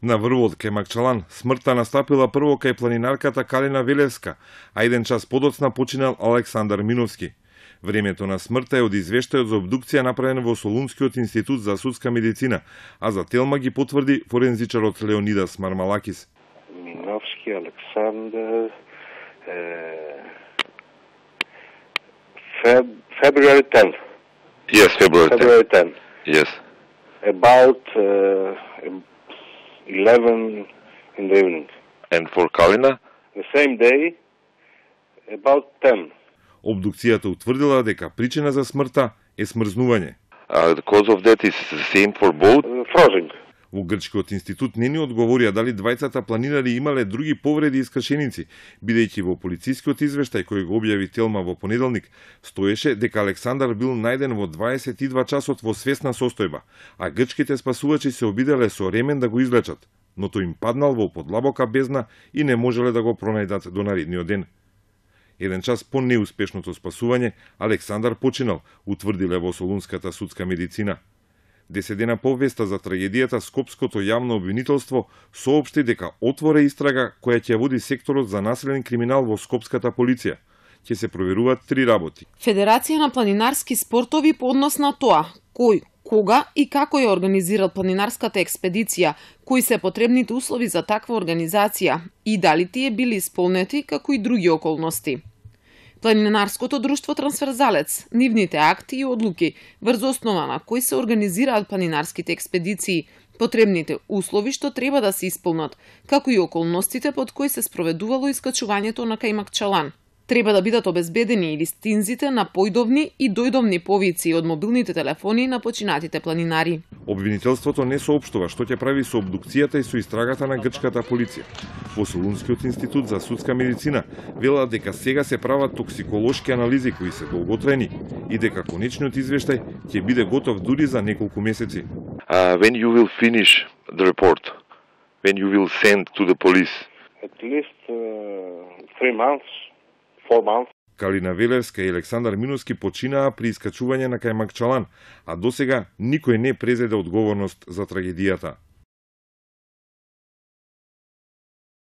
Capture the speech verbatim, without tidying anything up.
На врвот кај Макчалан смртта настапила прво кај планинарката Калина Велевска, а еден час подоцна починал Александар Миновски. Времето на смртта е од извештајот за обдукција направен во Солунскиот институт за судска медицина, а за Телма ги потврди форензичарот Леонидас Мармалакис. Миновски Александар Feb February tenth. Yes, February tenth. February tenth. Yes. About uh, eleven in the evening. And for Kalina? The same day, about ten. Обдукцијата утврдила дека причина за смртта е смрзнување. Uh, the cause of death is the same for both? Uh, frozen. Во Грчкиот институт не ни одговорија дали двајцата планинари имале други повреди и искршеници, бидејќи во полицискиот извештај кој го објави Телма во понеделник стоеше дека Александар бил најден во дваесет и два часот во свесна состојба, а грчките спасувачи се обиделе со ремен да го извлечат, но тој им паднал во подлабока бездна и не можеле да го пронајдат до наредниот ден. Еден час по неуспешното спасување, Александар починал, утврдиле во Солунската судска медицина. Десет дена по веста за трагедијата, Скопското јавно обвинителство соопшти дека отвора истрага која ќе води секторот за населен криминал во Скопската полиција. Ќе се проверуваат три работи. Федерација на планинарски спортови по однос на тоа кој, кога и како ја организирал планинарската експедиција, кои се потребните услови за таква организација и дали тие били исполнети, како и други околности. Планинарското друштво Трансферзалец, нивните акти и одлуки, врз основа на кои се организираат планинарските експедиции, потребните услови што треба да се исполнат, како и околностите под кои се спроведувало искачувањето на кај Макчалан. Треба да бидат обезбедени и листинзите на појдовни и дојдовни повици од мобилните телефони на починатите планинари. Обвинителството не соопштува што ќе прави со обдукцијата и со истрагата на грчката полиција. Во Солунскиот институт за судска медицина велат дека сега се прават токсиколошки анализи кои се долготрајни и дека конечниот извештај ќе биде готов дури за неколку месеци. Uh, when you will finish the report? When you will send to the police? At least uh, three months. Four months. Калина Велевска и Александар Миновски починаа при искачување на кај Макчалан, а досега никој не презеде одговорност за трагедијата.